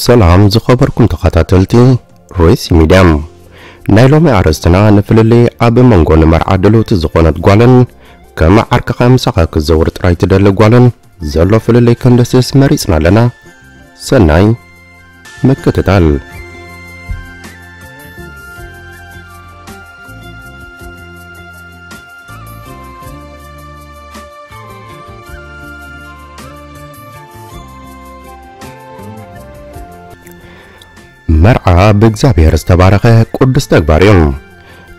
ሰላም ዝኸበርኩም ተኸታተልቲ ሬስ ሚድያ፣ ናይ ሎሚ ኣርእስትና ንፍልልይ ኣብ መንጎ ንመርዓ ድልውቲ ዝኾነት ጓልን ከም ዓርክኻ ምሳኻ ክዘውር ጥራይ ትደሊ ጓልን ዘሎ ፍልልይ ከንደስስ መሪጽና ኣለና። ሰናይ ምክትታል። መርዓ ብእግዚኣብሔር ዝተባረኸ ቅዱስ ተግባር እዩ።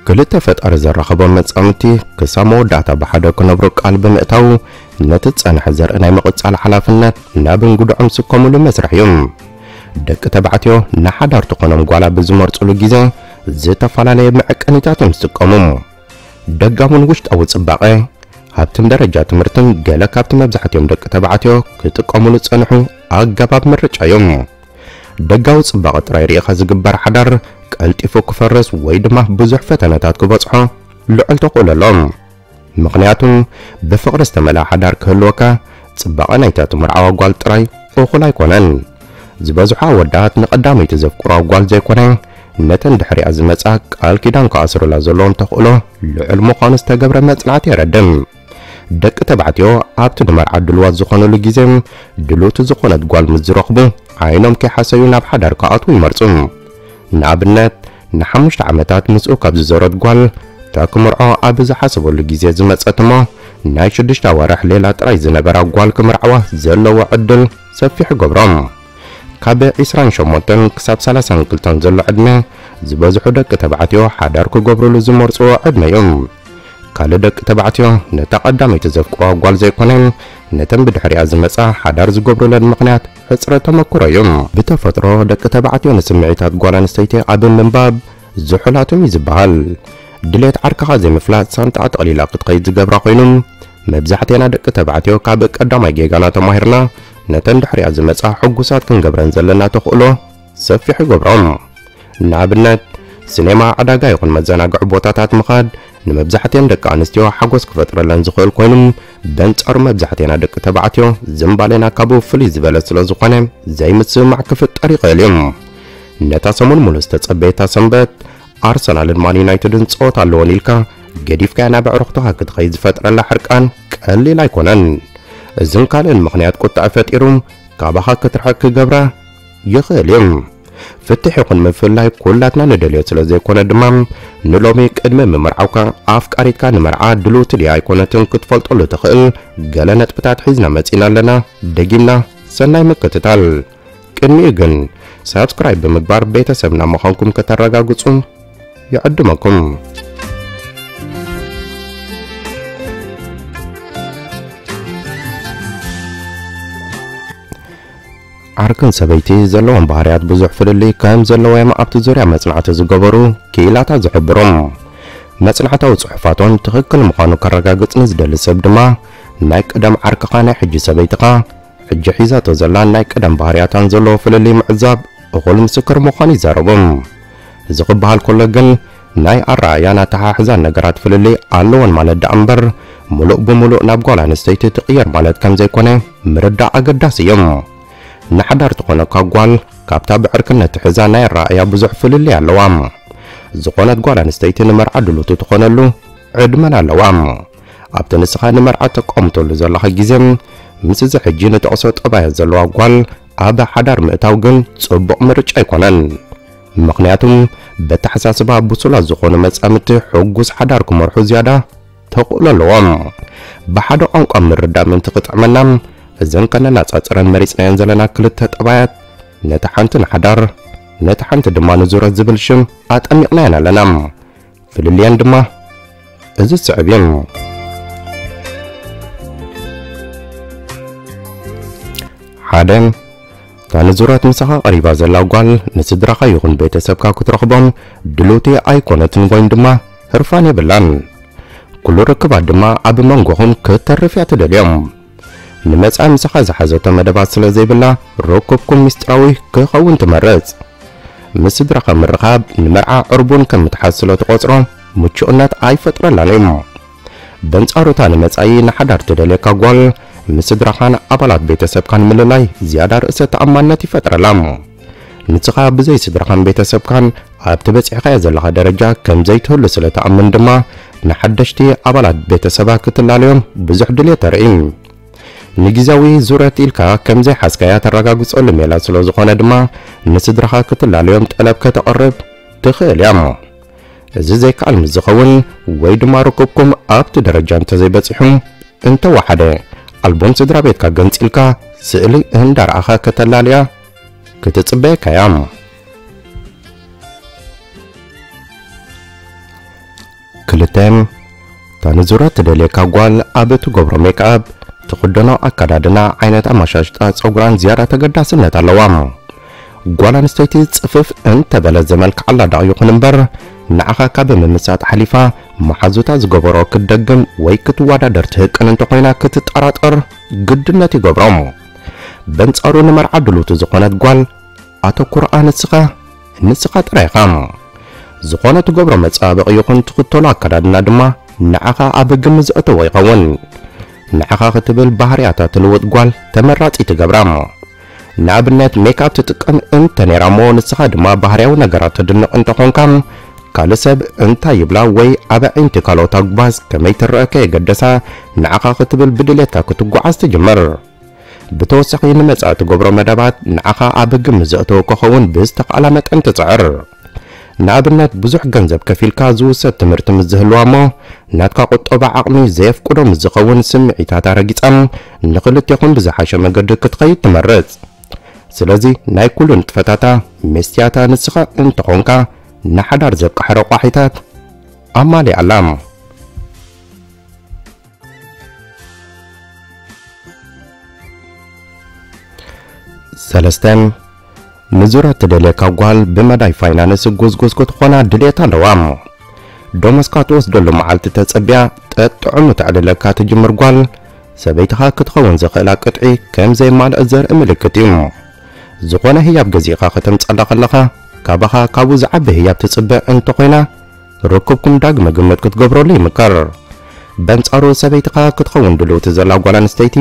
ክልተ ፈጣሪ ዘራኸቦም መጻምድቲ ክሳብ መወዳእታ ብሓደ ክነብሩ ቃል ብምእታው፣ ነቲ ዝጸንሐ ዘርኢ ናይ ምቕጻል ሓላፍነት ናብ እንግድዖም ዝስከሙሉ መስርሕ እዩ። ደቂ ተባዕትዮ ንሓዳር ትኾኖም ጓል ኣብ ዝመርጹሉ ግዜ ዝተፈላለየ መዐቀኒታት እዮም ዝጥቀሙ። ደጋውን ውሽጣዊ ጽባቐ፣ ሃብትን ደረጃ ትምህርትን ገለ ካብቲ መብዛሕትኦም ደቂ ተባዕትዮ ክጥቀሙሉ ዝጸንሑ ኣገባብ ምርጫ እዮም። ደጋዊ ጽባቐ ጥራይ ርኢኻ ዝግበር ሓዳር ቀልጢፉ ክፈርስ ወይ ድማ ብዙሕ ፈተነታት ክበጽሖ ልዑል ተኽእሎ ኣሎ። ምኽንያቱ ብፍቕሪ ዝተመልኣ ሓዳር ክህልወካ ጽባቐ ናይታ ትምርዓዋ ጓል ጥራይ እኹል ኣይኮነን። ዝበዝሑ ኣወዳት ንቐዳመይቲ ዘፍቅርዋ ጓል ዘይኮነ ነተን ድሕሪኣ ዝመጻ ቃል ኪዳን ክኣስሩላ ዘለዎም ተኽእሎ ልዑል ምዃኑ ዝተገብረ መጽናዕቲ የረድእ። ደቂ ተባዕትዮ ኣብቲ ንመርዓ ድልዋት ዝኾኑሉ ግዜ ድልውቲ ዝኾነት ጓል ምስ ዝረኽቡ ዓይኖም ከይሓሰዩ ናብ ሓዳር ክኣትዉ ይመርጹ። ንኣብነት ንሓሙሽተ ዓመታት ምስኡ ካብ ዝዘረት ጓል እታ ክምርዖ ኣብ ዝሓሰበሉ ግዜ ዝመጸት እሞ ናይ ሽዱሽተ ኣዋርሕ ሌላ ጥራይ ዝነበራ ጓል ክምርዓዋ ዘለዎ ዕድል ሰፊሕ ይገብሮ። ካብ ዒስራን ሸሞንተን ክሳብ ሰላሳን ክልተን ዘሎ ዕድመ ዝበዝሑ ደቂ ተባዕትዮ ሓዳር ክገብሩሉ ዝመርጽዎ ዕድመ እዩ። ካልእ ደቂ ተባዕትዮ ነታ ቀዳመይቲ ዘፍቅርዋ ጓል ዘይኮነ ነተን ብድሕሪኣ ዝመጻ ሓዳር ዝገብሩለን ምኽንያት ሕጽረት ተመክሮ እዩ። ብተፈጥሮ ደቂ ተባዕትዮ ንስምዒታት ጓል ኣንስተይቲ ኣብ ምንባብ ዝሑላት እዮም እዩ ዝበሃል። ድሌት ዓርክኻ ዘይምፍላጥ ሳንጣ ጠቕሊላ ክትኸይድ ዝገብራ ኮይኑ፣ መብዛሕቴና ደቂ ተባዕትዮ ካብ ቀዳማይ ጌጋና ተማሂርና ነተን ድሕሪኣ ዝመጻ ሕጉሳት ክንገብረን ዘለና ተኽእሎ ሰፊሕ ይገብሮም። ንኣብነት፣ ሲኔማ፣ ዕዳጋ ይኹን መዘናግዒ ቦታታት ምኻድ ንመብዛሕትኤን ደቂ ኣንስትዮ ሓጎስ ክፈጥረለን ዝኽእል ኮይኑ፣ በንጻሩ መብዛሕትኤና ደቂ ተባዕትዮ ዝንባሌና ካብኡ ፍልይ ዝበለ ስለ ዝኾነ ዘይምስምማዕ ክፍጠር ይኽእል እዩ። ነታ ሰሙን ሙሉእ ዝተጸበየታ ሰንበት ኣርሰናልን ማን ዩናይትድን ጸወታ ኣለወን ኢልካ ገዲፍካያ ናብ ኣዕሩኽትኻ ክትኸይድ ዝፈጥረላ ሕርቃን ቀሊል ኣይኮነን። እዝን ካልእን ምኽንያት ቁጥዐ ፈጢሩ ካባኻ ክትርሕቅ ክገብራ ይኽእል እዩ። ፍትሕ ይኹን ምፍላይ ኩላትና ንደልዮ ስለ ዘይኮነ ድማ ንሎሚ ቅድሚ ምምርዓውካ ኣፍቃሪትካ ንመርዓ ድልውቲ ድያ ኣይኮነትን ክትፈልጠሉ ትኽእል ገለ ነጥብታት ሒዝና መጺና ኣለና። ደጊምና ሰናይ ምክትታል። ቅድሚኡ ግን ሳብስክራይብ ብምግባር ቤተሰብና ምዃንኩም ከተረጋግጹ ይዕድመኩም። ዓርክን ሰበይቲ ዘለዎም ባህርያት ብዙሕ ፍልልይ ከም ዘለዎ እዮም ኣብቲ ዙርያ መጽናዕቲ ዝገበሩ ክኢላታት ዝሕብሩ። መጽናዕታዊ ጽሑፋቶም ትኽክል ምዃኑ ከረጋግጽ ንዝደሊ ሰብ ድማ ናይ ቀደም ዓርክኻ ናይ ሕጂ ሰበይትኻ ሕጂ ሒዛቶ ዘላ ናይ ቀደም ባህርያታን ዘለዎ ፍልልይ ምዕዛብ እኹል ምስክር ምዃኑ ይዛረቡ። እዚ ክበሃል ከሎ ግን ናይ ኣረኣእያን ኣተሓሕዛን ነገራት ፍልልይ ኣለወን ማለት ደኣ እምበር፣ ምሉእ ብምሉእ ናብ ጓል ኣንስተይቲ ትቕየር ማለት ከም ዘይኮነ ምርዳእ ኣገዳሲ እዩ። ንሓዳር ትኾነካ ጓል ካብታ ብዕርክነት ትሕዛ ናይ ኣረኣእያ ብዙሕ ፍልልይ ኣለዋ። ዝኾነት ጓል ኣንስተይቲ ንመርዓ ድልውቲ ትኾነሉ ዕድመን ኣለዋ። ኣብቲ ንስኻ ንመርዓ ተቋምተሉ ዘለኻ ግዜ፣ ምስ እዚ ሕጂ ንጠቕሶ ጠባያት ዘለዋ ጓል ኣብ ሓዳር ምእታው ግን ጽቡቕ ምርጫ ኣይኮነን። ምኽንያቱም በተሓሳስባ ብሱላት ዝኾኑ መጻምድቲ ሕጉስ ሓዳር ክመርሑ ዝያዳ ተኽእሎ ኣለዎም። ብሓደ ቋንቋ ምርዳእ ምእንቲ ክጥዕመና፣ እዘን ከነነጻጽረን መሪጽናየን ዘለና ክልተ ጠባያት፣ ነታ ሓንቲ ንሓዳር፣ ነታ ሓንቲ ድማ ንዙረት ዝብል ሽም ኣጠሚቕናየን ኣለና። ፍልልየን ድማ እዚ ዝስዕብ እዩ። ሓደ፣ እታ ንዙረት ምሳኻ ቀሪባ ዘላ ጓል ንስድራኻ ይኹን ቤተሰብካ ክትረኽቦም ድልውቲ ኣይኮነትን ወይ ድማ ህርፋን የብላን። ኩሉ ርክባት ድማ ኣብ መንጎኹም ክተርፍ እያ ትደልዮም። ንመጻኢ ምሳኻ ዝሓዘቶ መደባት ስለ ዘይብላ፣ ርክብኩም ምስጢራዊ ክኸውን ትመርጽ። ምስ ስድራኻ ምርኻብ ንመርዓ ዕርቡን ከም ምትሓዝ ስለ ትቖጽሮ፣ ምቹእነት ኣይፈጥረላን እዩ። በንጻሩ፣ እታ ንመጻኢ ንሓዳር ትደልየካ ጓል፣ ምስ ስድራኻን ኣባላት ቤተሰብካን ምልላይ ዝያዳ ርእሰ ተኣማንነት ይፈጥረላ። ንስኻ ብዘይ ስድራኻን ቤተሰብካን ኣብቲ በጺሕካዮ ዘለኻ ደረጃ ከም ዘይትህሉ ስለ ትኣምን ድማ፣ ንሓደሽቲ ኣባላት ቤተሰባ ክትላለዮም ብዙሕ ድልየት ተርኢ። ንግዜያዊ ዙረት ኢልካ ከም ዘይሓዝካያ ተረጋግጸሉ ሜላ ስለ ዝኾነ ድማ፣ ንስድራኻ ክትላለዮም ጠለብ ከተቕርብ ትኽእል እያ። እዚ ዘይከኣል ምስ ዝኸውን፣ ወይ ድማ ርክብኩም ኣብቲ ደረጃ እንተዘይበጺሑ፣ እንተወሓደ ኣልቡም ስድራ ቤትካ ገንጺልካ ስእሊ እንዳረኣኻ ከተላልያ ክትጽበየካ እያ። ክልተ፣ እታ ንዙረት ትደልየካ ጓል ኣብ እትገብሮ ሜክኣፕ፣ ትኽደኖ ኣከዳድና፣ ዓይነት ኣመሻሽጣ ጸጉራን ዝያዳ ተገዳስነት ኣለዋ። ጓል ኣንስተይቲ ጽፍፍ እንተበለት ዘመልክዓላ ደኣ ይኹን እምበር፣ ንዓኻ ካብ ምምሳጥ ሓሊፋ መሓዙታ ዝገበሮ ክትደግም ወይ ክትወዳደር ትህቅን እንተኾይና ክትጠራጠር ግድነት ይገብሮ። በንጻሩ ንመርዓ ድልውቲ ዝኾነት ጓል ኣተኩሮኣ ንስኻ፣ ንስኻ ጥራይ ኢኻ። ዝኾነ ትገብሮ መጸባበቒ ይኹን ትኽተሎ ኣከዳድና ድማ ንዓኻ ኣብ ግምት ዘእተዎ ይኸውን። ንዓኻ ክትብል ባህርያታ ትልውጥ ጓል ተመራጺ ትገብራ። ንኣብነት ሜክኣፕ ትጥቀም እንተ ነይራ እሞ ንስኻ ድማ ባህርያዊ ነገራት ተድንቕ እንተኾንካ፣ ካልእ ሰብ እንታይ ይብላ ወይ ኣብ ኣዒንቲ ካልኦት ኣጉባዝ ከመይ ትረአ ከየገደሳ ንዓኻ ክትብል ብድሌትካ ክትጓዓዝ ትጅምር። ብተወሳኺ ንመጻኢ ትገብሮ መደባት ንዓኻ ኣብ ግምት ዘእተወ ክኸውን ብዝተኻእላ መጠን ትጽዕር። ንኣብነት ብዙሕ ገንዘብ ከፊልካ ዝውሰድ ትምህርቲ ምስ ዝህልዋ እሞ ናትካ ቁጠባ ዓቕሚ ዘየፍቅዶ ምስ ዝኸውን ስምዒታታ ረጊጻ ንኽልቴኹም ብዝሓሸ መገዲ ክትኸይድ ትመርጽ። ስለዚ ናይ ኩሉ ንጥፈታታ መስትያታ ንስኻ እንተኾንካ ንሓዳር ዘብቅሐ ረቋሒታት ኣማሊኣላ። ሰለስተ፣ ንዙረት ትደልየካ ጓል ብመዳይ ፋይናንስ ጉዝጉዝ ክትኾና ድልየት ኣለዋ። ደሞዝካ ትወስደሉ መዓልቲ ተጸቢያ ጠጥዑሙ ተዕልለካ ትጅምር ጓል፣ ሰበይትኻ ክትኸውን ዝኽእላ ቅጥዒ ከም ዘይማልእ ዘርኢ ምልክት እዩ። ዝኾነ ህያብ ገዚእኻ ከተምጸላ ከለኻ፣ ካባኻ ካብኡ ዝዓቢ ህያብ ትጽበ እንተኾይና፣ ርክብኩም ዳግመ ግምት ክትገብረሉ ይምከር። በንጻሩ ሰበይትኻ ክትኸውን ድልውቲ ዘላ ጓል ኣንስተይቲ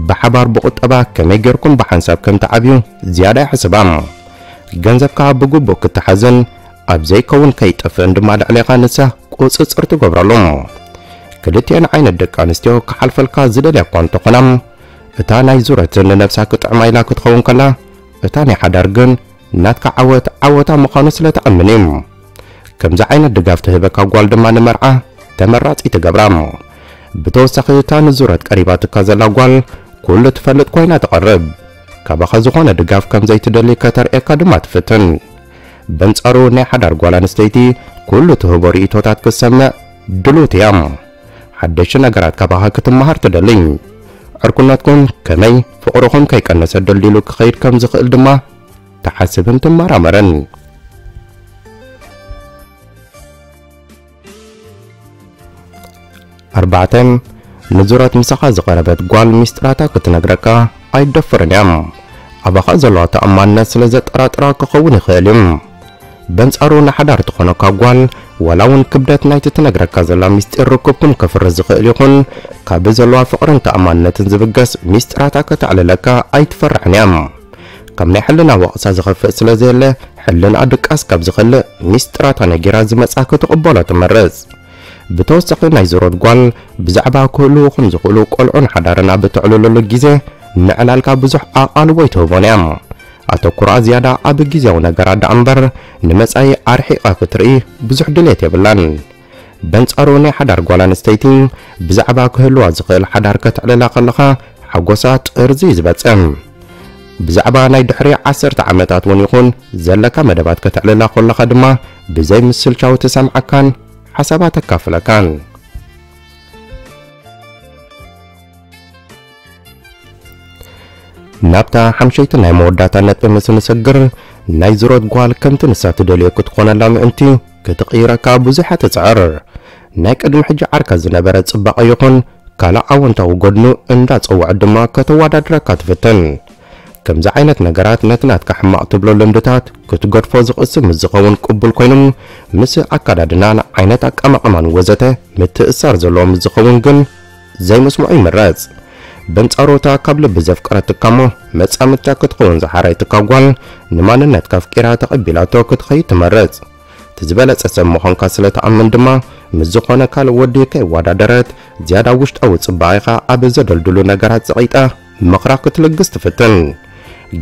ብሓባር ብቁጠባ ከመይ ጌርኩም ብሓንሳብ ከም ትዓብዩ ዝያዳ ይሕስባ። ገንዘብካ ብግቡእ ክትሓዝን ኣብ ዘይከውን ከይጠፍእን ድማ ልዕሌኻ ንሳ ቁጽጽር ትገብረሉ። ክልቲኤን ዓይነት ደቂ ኣንስትዮ ክሓልፈልካ ዝደልያ እኳ እንተኾና፣ እታ ናይ ዙረት ንነብሳ ክጥዕማ ኢላ ክትኸውን ከላ፣ እታ ናይ ሓዳር ግን ናትካ ዓወት ዓወታ ምዃኑ ስለ ትኣምን እዩ። ከምዚ ዓይነት ድጋፍ ትህበካ ጓል ድማ ንመርዓ ተመራጺ ትገብራ። ብተወሳኺ እታ ንዙረት ቀሪባትካ ዘላ ጓል ኩሉ ትፈልጥ ኮይና ትቐርብ። ካባኻ ዝኾነ ድጋፍ ከም ዘይትደሊ ከተርእየካ ድማ ትፍትን። በንጻሩ ናይ ሓዳር ጓል ኣንስተይቲ ኩሉ ትህቦ ርእይቶታት ክትሰምዕ ድሉት እያ። ሓደሽቲ ነገራት ካባኻ ክትመሃር ትደሊ። ዕርክነትኩም ከመይ ፍቕርኹም ከይቀነሰ ደልዲሉ ክኸይድ ከም ዝኽእል ድማ ትሓስብን ትመራመርን። ኣርባዕተ፣ ንዙረት ምሳኻ ዝቐረበት ጓል ሚስጥራታ ክትነግረካ ኣይትደፍርን እያ። ኣባኻ ዘለዋ ተኣማንነት ስለ ዘጠራጥራ ክኸውን ይኽእል እዩ። በንጻሩ ንሓዳር ትኾነካ ጓል፣ ዋላ እውን ክብደት ናይቲ ትነግረካ ዘላ ሚስጢር ርክብኩም ከፍርስ ዝኽእል ይኹን፣ ካብ ዘለዋ ፍቕርን ተኣማንነትን ዝብገስ ሚስጥራታ ከተዕልለካ ኣይትፈርሕን እያ። ካብ ናይ ሕልና ወቕሳ ዝኸፍእ ስለ ዘየለ፣ ሕልና ድቃስ ካብ ዝኸልእ ሚስጥራታ ነጊራ ዝመጻ ክትቕበሎ ትመርጽ። ብተወሳኺ ናይ ዙረት ጓል ብዛዕባ ክህልዉ ከም ዝኽእሉ ቆልዑን ሓዳርን ኣብ እተዕልለሉ ግዜ ንዕላልካ ብዙሕ ኣቓልቦ ኣይትህቦን እያ። ኣተኩሮኣ ዝያዳ ኣብ ግዜያዊ ነገራት ደኣ እምበር ንመጻኢ ኣርሒቓ ክትርኢ ብዙሕ ድሌት የብላን። በንጻሩ ናይ ሓዳር ጓል ኣንስተይቲ ብዛዕባ ክህልዋ ዝኽእል ሓዳር ከተዕልላ ከለኻ ሓጎሳ ጥርዚ እዩ ዝበጽእ። ብዛዕባ ናይ ድሕሪ ዓሰርተ ዓመታት እውን ይኹን ዘለካ መደባት ከተዕልላ ከለኻ ድማ ብዘይ ምስልቻው ትሰምዓካን ሓሳባ ተካፍለካን። ናብታ ሓምሸይቲ ናይ መወዳእታ ነጥቢ ምስ ንሰግር፣ ናይ ዝሮት ጓል ከምቲ ንሳ ትደልዮ ክትኾነላ ምእንቲ ክትቕይረካ ብዙሕ ትጽዕር። ናይ ቅድሚ ሕጂ ዓርካ ዝነበረ ጽባቐ ይኹን ካልእ ኣወንታዊ ጎድኑ እንዳጸውዐት ድማ ከተወዳድረካ ትፍትን። ከምዚ ዓይነት ነገራት ነቲ ናትካ ሕማቕ ትብሎ ልምድታት ክትገድፎ ዝቕስብ ምስ ዝኸውን ቅቡል ኮይኑ፣ ምስ ኣካዳድናን ዓይነት ኣቀማቕማን ወዘተ ምትእስሳር ዘለዎ ምስ ዝኸውን ግን ዘይምስምዑ ይምረጽ። በንጻሩ እታ ካብ ልቢ ዘፍቀረትካ እሞ መጻምድታ ክትኸውን ዝሓረየትካ ጓል፣ ንማንነትካ ኣፍቂራ ተቐቢላቶ ክትኸይድ ትመርጽ። እቲ ዝበለጸ ሰብ ምዃንካ ስለ ትኣምን ድማ፣ ምስ ዝኾነ ካልእ ወዲ ከይወዳደረት፣ ዝያዳ ውሽጣዊ ጽባቐኻ ኣብ ዘደልድሉ ነገራት ጸቒጣ ምኽራ ክትልግስ ትፍትን።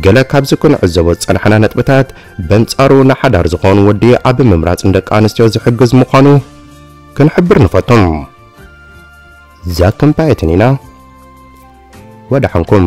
ገለ ካብዚ ክንዕዘቦ ዝጸናሕና ነጥብታት፣ በንጻሩ ንሓዳር ዝኾኑ ወዲ ኣብ ምምራጽ ንደቂ ኣንስትዮ ዝሕግዝ ምዃኑ ክንሕብር ንፈቱ። ዛክን ፓየትን ኢና። ወደሓንኩም።